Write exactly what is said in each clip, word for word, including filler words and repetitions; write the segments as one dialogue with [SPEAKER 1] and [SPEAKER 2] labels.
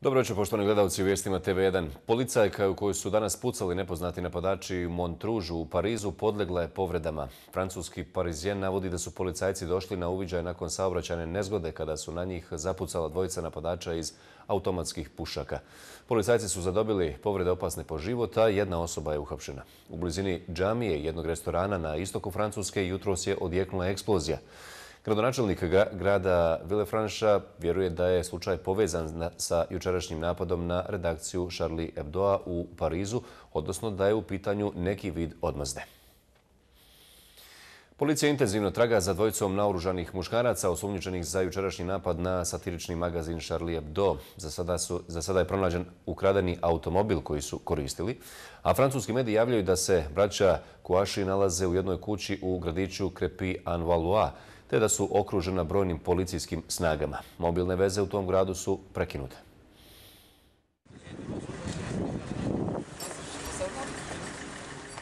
[SPEAKER 1] Dobro večer, poštovani gledalci u vijestima T V jedan. Policajka u kojoj su danas pucali nepoznati napadači u Montroužu u Parizu podlegla je povredama. Francuski Parizien navodi da su policajci došli na uviđaj nakon saobraćajne nezgode kada su na njih zapucala dvojica napadača iz automatskih pušaka. Policajci su zadobili povrede opasne po život, a jedna osoba je uhapšena. U blizini džamije jednog restorana na istoku Francuske jutros je odjeknula eksplozija. Gradonačelnik grada Villefranche vjeruje da je slučaj povezan sa jučerašnjim napadom na redakciju Charlie Hebdoa u Parizu, odnosno da je u pitanju neki vid odmazde. Policija intenzivno traga za dvojicom naoružanih muškaraca osumnjičenih za jučerašnji napad na satirični magazin Charlie Hebdo. Za sada, su, za sada je pronađen ukradeni automobil koji su koristili, a francuski mediji javljaju da se braća Kouachi nalaze u jednoj kući u gradiću Crépy-en-Valois, te da su okružena brojnim policijskim snagama. Mobilne veze u tom gradu su prekinute.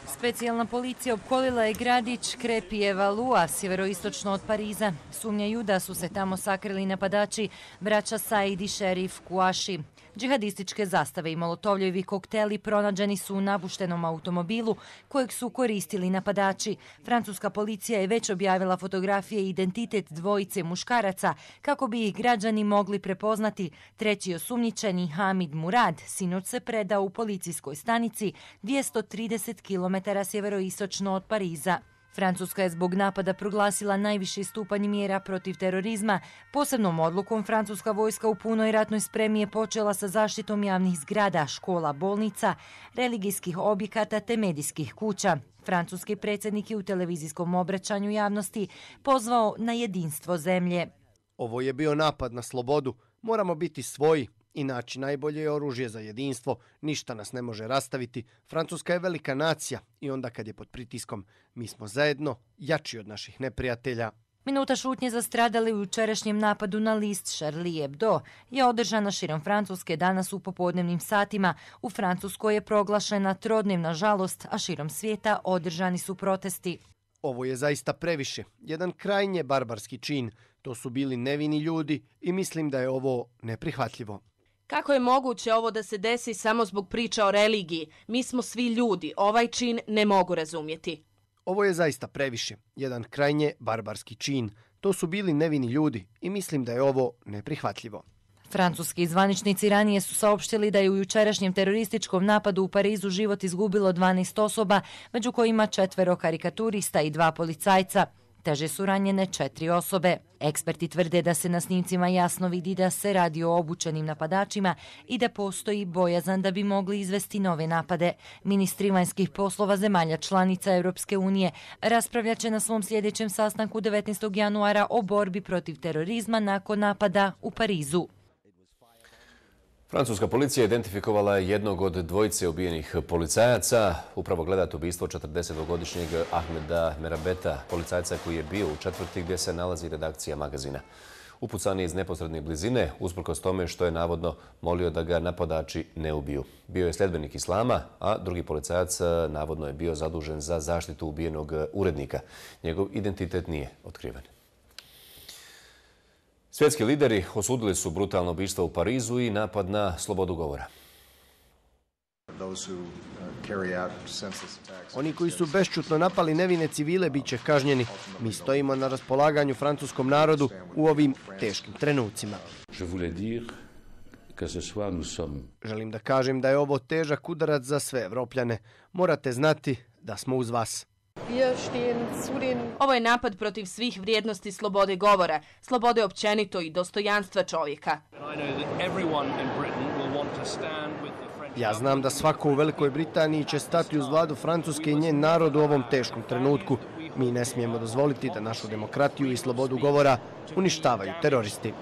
[SPEAKER 2] Specijalna policija opkolila je gradić Crépy-en-Valois, sjeveroistočno od Pariza. Sumnjaju da su se tamo sakrili napadači braća Said i šerif Kouachi. Džihadističke zastave i molotovljevi kokteli pronađeni su u napuštenom automobilu kojeg su koristili napadači. Francuska policija je već objavila fotografije i identitet dvojice muškaraca kako bi ih građani mogli prepoznati. Treći osumnjičeni, Hamid Murad, sinoć se predao u policijskoj stanici dvjesto trideset kilometara sjeveroistočno od Pariza. Francuska je zbog napada proglasila najviši stupanj mjera protiv terorizma. Posebnom odlukom francuska vojska u punoj ratnoj spremi je počela sa zaštitom javnih zgrada, škola, bolnica, religijskih objekata te medijskih kuća. Francuski predsjednik je u televizijskom obraćanju javnosti pozvao na jedinstvo zemlje.
[SPEAKER 3] Ovo je bio napad na slobodu. Moramo biti svoji i naći najbolje oružje za jedinstvo. Ništa nas ne može rastaviti. Francuska je velika nacija i onda kad je pod pritiskom, mi smo zajedno jači od naših neprijatelja.
[SPEAKER 2] Minuta šutnje za stradali u jučerašnjem napadu na list Charlie Hebdo je održana širom Francuske danas u popodnevnim satima. U Francuskoj je proglašena trodnevna žalost, a širom svijeta održani su protesti.
[SPEAKER 3] Ovo je zaista previše. Jedan krajnje barbarski čin. To su bili nevini ljudi i mislim da je ovo neprihvatljivo.
[SPEAKER 4] Kako je moguće ovo da se desi samo zbog priča o religiji? Mi smo svi ljudi. Ovaj čin ne mogu razumjeti.
[SPEAKER 3] Ovo je zaista previše. Jedan krajnje barbarski čin. To su bili nevini ljudi i mislim da je ovo neprihvatljivo.
[SPEAKER 2] Francuski zvaničnici ranije su saopštili da je u jučerašnjem terorističkom napadu u Parizu život izgubilo dvanaest osoba, među kojima četvero karikaturista i dva policajca. Teže su ranjene četiri osobe. Eksperti tvrde da se na snimcima jasno vidi da se radi o obučenim napadačima i da postoji bojazan da bi mogli izvesti nove napade. Ministri vanjskih poslova zemalja članica Europske unije raspravljat će na svom sljedećem sastanku devetnaestog januara o borbi protiv terorizma nakon napada u Parizu.
[SPEAKER 1] Francuska policija identifikovala jednog od dvojice ubijenih policajaca. Upravo gledate ubistvo četrdesetogodišnjeg Ahmeda Merabeta, policajca koji je bio u četvrti gdje se nalazi redakcija magazina. Upucan je iz neposredne blizine, usprkos tome što je navodno molio da ga napadači ne ubiju. Bio je sljedbenik islama, a drugi policajac navodno je bio zadužen za zaštitu ubijenog urednika. Njegov identitet nije otkriven. Svjetski lideri osudili su brutalno ubistvo u Parizu i napad na slobodu govora.
[SPEAKER 3] Oni koji su bešćutno napali nevine civile bit će kažnjeni. Mi stojimo na raspolaganju francuskom narodu u ovim teškim trenucima. Želim da kažem da je ovo težak udarac za sve Evropljane. Morate znati da smo uz vas.
[SPEAKER 4] Ovo je napad protiv svih vrijednosti slobode govora, slobode općenito i dostojanstva čovjeka.
[SPEAKER 3] Ja znam da svako u Velikoj Britaniji će stati uz vladu Francuske i njen narod u ovom teškom trenutku. Mi ne smijemo dozvoliti da našu demokratiju i slobodu govora uništavaju teroristi.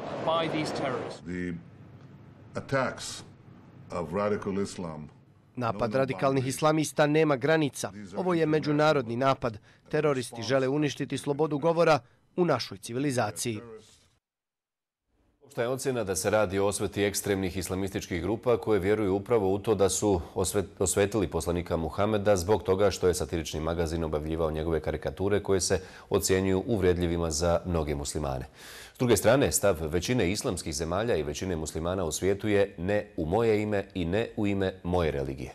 [SPEAKER 3] Napad radikalnih islamista nema granica. Ovo je međunarodni napad. Teroristi žele uništiti slobodu govora u našoj civilizaciji.
[SPEAKER 1] Opšta je ocjena da se radi o osveti ekstremnih islamističkih grupa koje vjeruju upravo u to da su osvetili poslanika Muhameda zbog toga što je satirični magazin objavljivao njegove karikature koje se ocjenjuju uvredljivima za mnoge muslimane. druge strane, stav većine islamskih zemalja i većine muslimana u svijetu je ne u moje ime i ne u ime moje religije.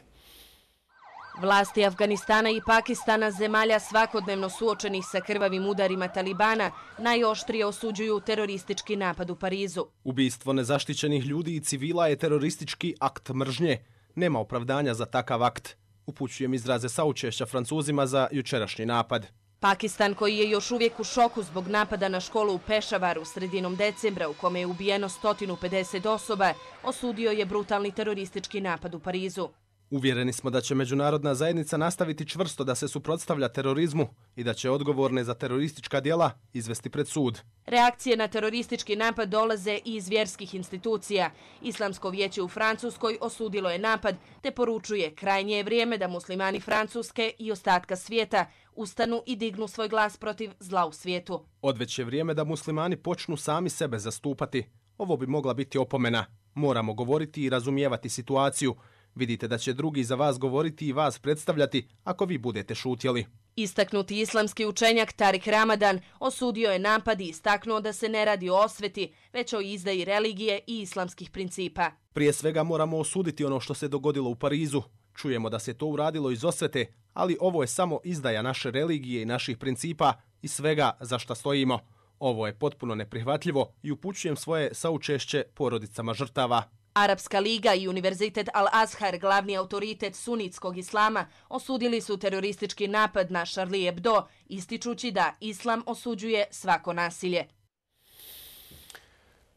[SPEAKER 4] Vlasti Afganistana i Pakistana, zemalja svakodnevno suočenih sa krvavim udarima Talibana, najoštrije osuđuju teroristički napad u Parizu.
[SPEAKER 5] Ubistvo nezaštićenih ljudi i civila je teroristički akt mržnje. Nema opravdanja za takav akt. Upućujem izraze saučešća Francuzima za jučerašnji napad.
[SPEAKER 4] Pakistan, koji je još uvijek u šoku zbog napada na školu u Pešavaru sredinom decembra u kome je ubijeno sto pedeset osoba, osudio je brutalni teroristički napad u Parizu.
[SPEAKER 5] Uvjereni smo da će međunarodna zajednica nastaviti čvrsto da se suprotstavlja terorizmu i da će odgovorne za teroristička djela izvesti pred sud.
[SPEAKER 4] Reakcije na teroristički napad dolaze i iz vjerskih institucija. Islamsko vijeće u Francuskoj osudilo je napad te poručuje krajnje je vrijeme da muslimani Francuske i ostatka svijeta ustanu i dignu svoj glas protiv zla u svijetu.
[SPEAKER 5] Odveć je vrijeme da muslimani počnu sami sebe zastupati. Ovo bi mogla biti opomena. Moramo govoriti i razumijevati situaciju. Vidite da će drugi za vas govoriti i vas predstavljati ako vi budete šutjeli.
[SPEAKER 4] Istaknuti islamski učenjak Tarik Ramadan osudio je napad i istaknuo da se ne radi o osveti, već o izdaji religije i islamskih principa.
[SPEAKER 5] Prije svega moramo osuditi ono što se dogodilo u Parizu. Čujemo da se to uradilo iz osvete, ali ovo je samo izdaja naše religije i naših principa i svega za šta stojimo. Ovo je potpuno neprihvatljivo i upućujem svoje saučešće porodicama žrtava.
[SPEAKER 4] Arapska liga i Univerzitet Al-Azhar, glavni autoritet sunitskog islama, osudili su teroristički napad na Charlie Hebdo, ističući da islam osuđuje svako nasilje.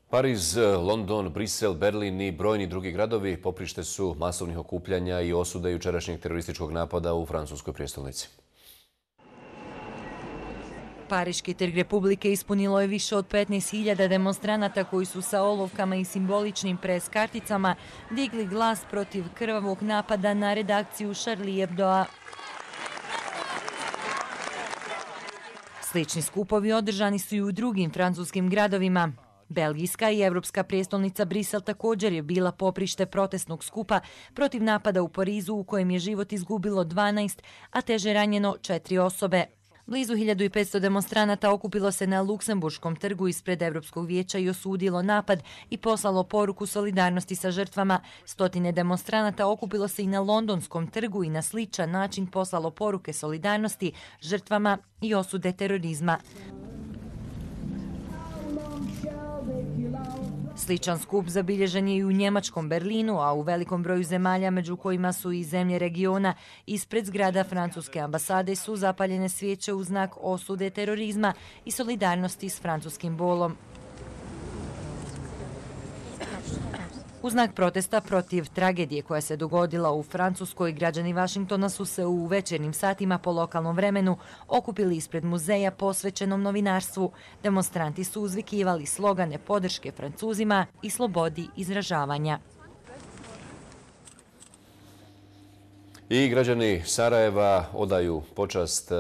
[SPEAKER 1] Pariz, London, Brisel, Berlin i brojni drugi gradovi poprište su masovnih okupljanja i osude jučerašnjeg terorističkog napada u francuskoj prijestolnici.
[SPEAKER 2] Pariški trg Republike ispunilo je više od petnaest hiljada demonstranata koji su sa olovkama i simboličnim pres karticama digli glas protiv krvavog napada na redakciju Charlie Hebdoa. Slični skupovi održani su i u drugim francuskim gradovima. Belgijska i evropska prijestolnica Brisel također je bila poprište protestnog skupa protiv napada u Parizu u kojem je život izgubilo dvanaest, a teže ranjeno četiri osobe. Blizu hiljadu petsto demonstranata okupilo se na Luksemburškom trgu ispred Evropskog vijeća i osudilo napad i poslalo poruku solidarnosti sa žrtvama. Stotine demonstranata okupilo se i na Londonskom trgu i na sličan način poslalo poruke solidarnosti žrtvama i osude terorizma. Sličan skup zabilježen je i u njemačkom Berlinu, a u velikom broju zemalja, među kojima su i zemlje regiona, ispred zgrada francuske ambasade su zapaljene svijeće u znak osude terorizma i solidarnosti s francuskim bolom. U znak protesta protiv tragedije koja se dogodila u Francuskoj, građani Vašingtona su se u večernjim satima po lokalnom vremenu okupili ispred muzeja posvećenom novinarstvu. Demonstranti su uzvikivali slogane podrške Francuzima i slobodi izražavanja.
[SPEAKER 1] I građani Sarajeva odaju počast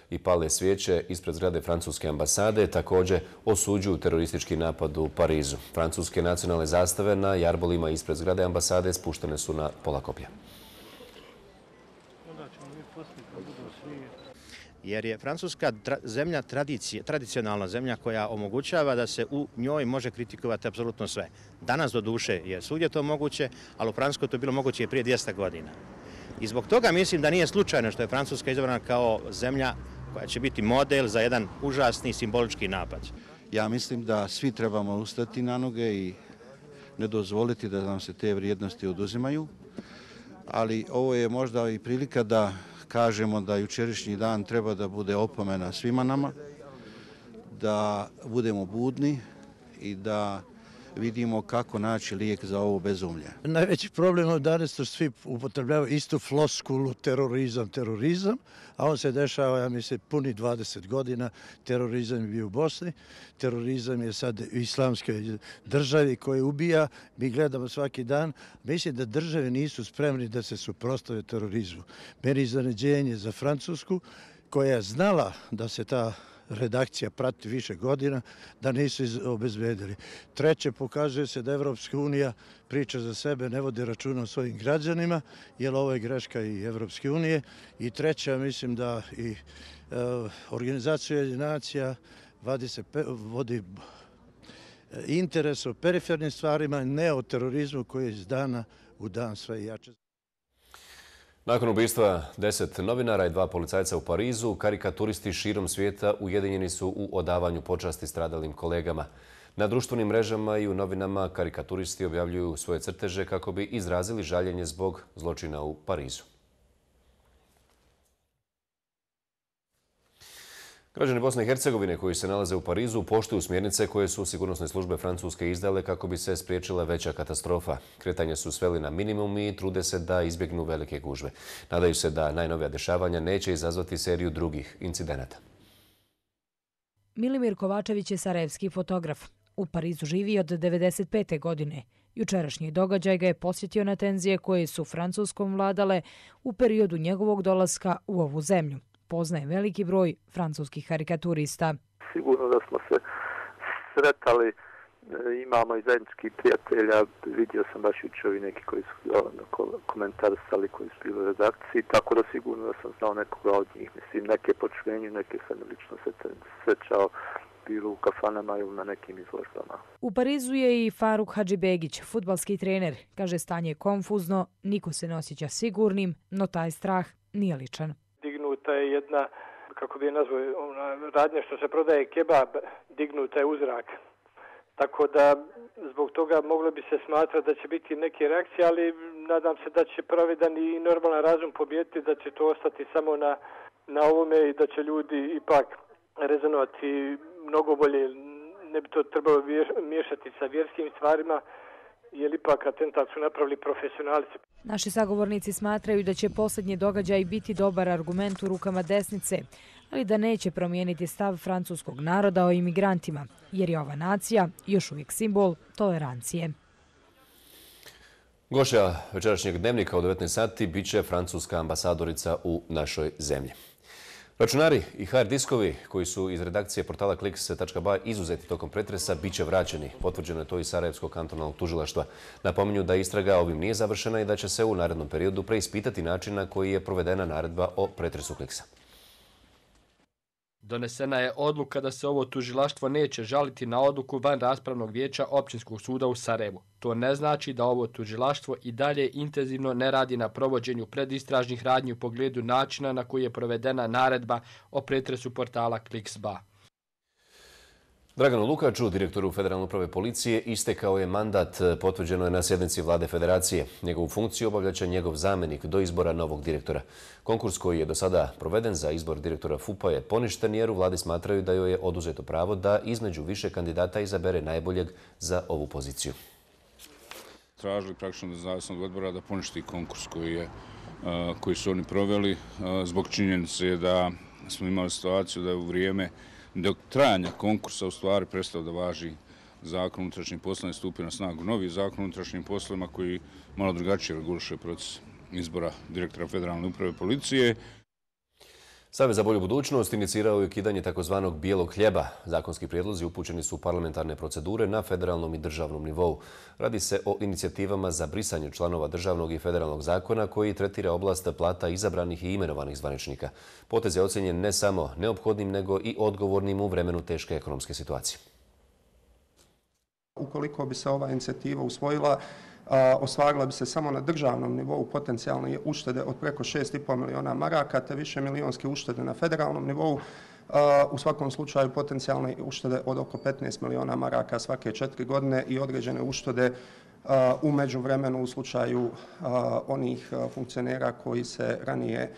[SPEAKER 1] i pale svijeće ispred zgrade francuske ambasade, također osuđuju teroristički napad u Parizu. Francuske nacionalne zastave na jarbolima ispred zgrade ambasade spuštene su na pola koplja.
[SPEAKER 6] Jer je Francuska zemlja tradicije, tradicionalna zemlja koja omogućava da se u njoj može kritikovati apsolutno sve. Danas do duše je svugdje to moguće, ali u Francuskoj to je bilo moguće i prije dvjesto godina. I zbog toga mislim da nije slučajno što je Francuska izabrana kao zemlja koja će biti model za jedan užasni simbolički napad.
[SPEAKER 7] Ja mislim da svi trebamo ustati na noge i ne dozvoliti da nam se te vrijednosti oduzimaju, ali ovo je možda i prilika da kažemo da jučerašnji dan treba da bude opomena svima nama, da budemo budni i da vidimo kako naći lijek za ovo bezumlje.
[SPEAKER 8] Najveći problem je danas što svi upotrebljavaju istu floskulu terorizam, terorizam, a on se dešava, ja mislim, puni dvadeset godina. Terorizam je bio u Bosni, terorizam je sad u islamskoj državi koji ubija. Mi gledamo svaki dan. Mislim da države nisu spremni da se suprotstave terorizmu. Meni je iznenađenje za Francusku koja je znala da se ta redakcija prati više godina, da nisu obezbedili. Treće, pokazuje se da Evropska unija priča za sebe, ne vodi računa o svojim građanima, jer ovo je greška i Evropske unije. I treća, mislim da i uh, organizacija nacija vodi, se, vodi interes o perifernim stvarima, ne o terorizmu koji je iz dana u dan sve jače.
[SPEAKER 1] Nakon ubistva deset novinara i dva policajca u Parizu, karikaturisti širom svijeta ujedinjeni su u odavanju počasti stradalim kolegama. Na društvenim mrežama i u novinama karikaturisti objavljuju svoje crteže kako bi izrazili žaljenje zbog zločina u Parizu. Građani Bosne i Hercegovine koji se nalaze u Parizu poštuju smjernice koje su sigurnosne službe Francuske izdale kako bi se spriječila veća katastrofa. Kretanje su sveli na minimum i trude se da izbjegnu velike gužve. Nadaju se da najnovija dešavanja neće izazvati seriju drugih incidenata.
[SPEAKER 9] Milimir Kovačević je sarajevski fotograf. U Parizu živi od devedeset pete godine. Jučerašnji događaj ga je posjetio na tenzije koje su Francuskom vladale u periodu njegovog dolaska u ovu zemlju. Poznaje veliki broj francuskih karikaturista.
[SPEAKER 10] Sigurno da smo se sretali, imamo i zajedničkih prijatelja, vidio sam baš jučer neki koji su komentarisali, koji su bili u redakciji, tako da sigurno da sam znao nekoga od njih. Mislim, neke po čuvenju, neke sam lično se srećao, bilo u kafanama ili na nekim izložbama.
[SPEAKER 9] U Parizu je i Faruk Hadžibegić, fudbalski trener. Kaže, stanje je konfuzno, niko se ne osjeća sigurnim, no taj strah nije ličan.
[SPEAKER 11] Dignuta je jedna, kako bi je nazvao, radnja što se prodaje kebab, dignuta je u zrak. Tako da zbog toga moglo bi se smatrati da će biti neke reakcije, ali nadam se da će pravedan i normalan razum pobijediti, da će to ostati samo na, na ovome i da će ljudi ipak rezonovati mnogo bolje. Ne bi to trebalo miješati sa vjerskim stvarima, jer ipak atentat su napravili profesionalci.
[SPEAKER 9] Naši sagovornici smatraju da će posljednji događaj biti dobar argument u rukama desnice, ali da neće promijeniti stav francuskog naroda o imigrantima, jer je ova nacija još uvijek simbol tolerancije.
[SPEAKER 1] Gošća večerašnjeg dnevnika u devetnaest sati bit će francuska ambasadorica u našoj zemlji. Računari i hard diskovi koji su iz redakcije portala kliks tačka ba izuzeti tokom pretresa bit će vraćeni. Potvrđeno je to iz Sarajevskog kantonalnog tužilaštva. Napominju da istraga ovim nije završena i da će se u narednom periodu preispitati način na koji je provedena naredba o pretresu kliksa.
[SPEAKER 12] Donesena je odluka da se ovo tužilaštvo neće žaliti na odluku van raspravnog vijeća Općinskog suda u Sarajevu. To ne znači da ovo tužilaštvo i dalje intenzivno ne radi na provođenju predistražnih radnji u pogledu načina na koji je provedena naredba o pretresu portala kliks tačka ba.
[SPEAKER 1] Draganu Lukaču, direktoru Federalne uprave policije, istekao je mandat, potvrđeno je na sjednici Vlade Federacije. Njegovu funkciju obavljaće njegov zamjenik do izbora novog direktora. Konkurs koji je do sada proveden za izbor direktora F U P-a je poništen jer u Vladi smatraju da joj je oduzeto pravo da između više kandidata izabere najboljeg za ovu poziciju.
[SPEAKER 13] Tražili praktično nezavisnog odbora da poništi konkurs koji, je, koji su oni proveli zbog činjenice da smo imali situaciju da je u vrijeme dok trajanja konkursa u stvari prestao da važi zakon o unutrašnjim poslovima i stupio na snagu novi zakon o unutrašnjim poslovima koji malo drugačije reguliše proces izbora direktora Federalne uprave policije.
[SPEAKER 1] Savez za bolju budućnost inicirao je ukidanje takozvanog bijelog hljeba. Zakonski prijedlozi upućeni su u parlamentarne procedure na federalnom i državnom nivou. Radi se o inicijativama za brisanje članova državnog i federalnog zakona koji tretira oblast plata izabranih i imenovanih zvaničnika. Potez je ocjenjen ne samo neophodnim, nego i odgovornim u vremenu teške ekonomske situacije.
[SPEAKER 14] Ukoliko bi se ova inicijativa usvojila, ostvarila bi se samo na državnom nivou potencijalne uštede od preko šest i pol miliona maraka, te više milionske uštede na federalnom nivou. U svakom slučaju potencijalne uštede od oko petnaest miliona maraka svake četiri godine i određene uštede u međuvremenu u slučaju onih funkcionera koji se ranije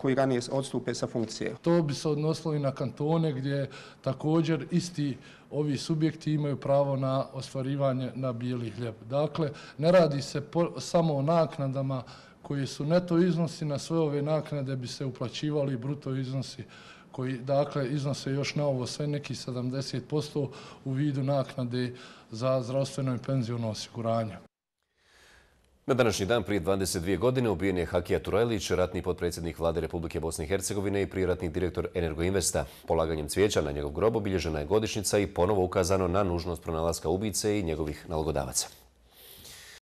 [SPEAKER 14] koji ranije odstupe sa funkcije.
[SPEAKER 15] To bi se odnosilo i na kantone gdje također isti ovi subjekti imaju pravo na ostvarivanje na bijeli hljeb. Dakle, ne radi se po, samo o naknadama koji su neto iznosi, na sve ove naknade bi se uplaćivali bruto iznosi koji dakle iznose još na ovo sve neki sedamdeset posto u vidu naknade za zdravstveno i penziono osiguranje.
[SPEAKER 1] Na današnji dan prije dvadeset dvije godine ubijen je Hakija Turajlić, ratni potpredsjednik Vlade Republike Bosne i Hercegovine i prijeratni direktor Energoinvesta. Polaganjem cvijeća na njegov grob obilježena je godišnjica i ponovo ukazano na nužnost pronalaska ubice i njegovih nalogodavaca.